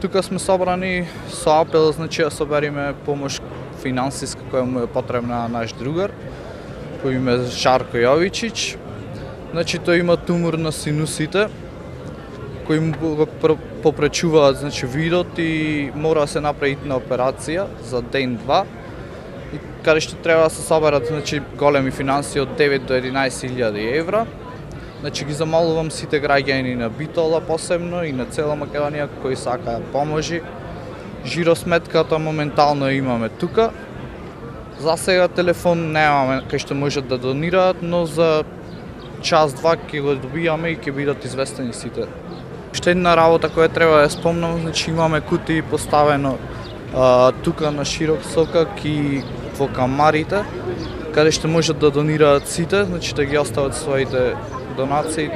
Тука сме собрани со апел, значи, да собериме помош финансиска која му е потребна на наш другар, кој име Жарко Јовичич. Значи, тој има тумор на синусите, кој му го попречуваат, значи, видот и мора да се направи на операција за ден-два. И каде што треба да се соберат, значи, големи финанси од 9 до 11.000 евра. Значи, ги замолувам сите граѓани на Битола посебно и на цела Македонија кои сакаат поможи. Жиросметката моментално имаме тука. За сега телефон немаме кај што можат да донираат, но за час-два ќе го добијаме и ќе бидат известени сите. Уште една работа која треба да спомнам, значи имаме кутии поставено тука на Широк сокак и во камарите, каде што можат да донираат сите, значи да ги остават своите донации.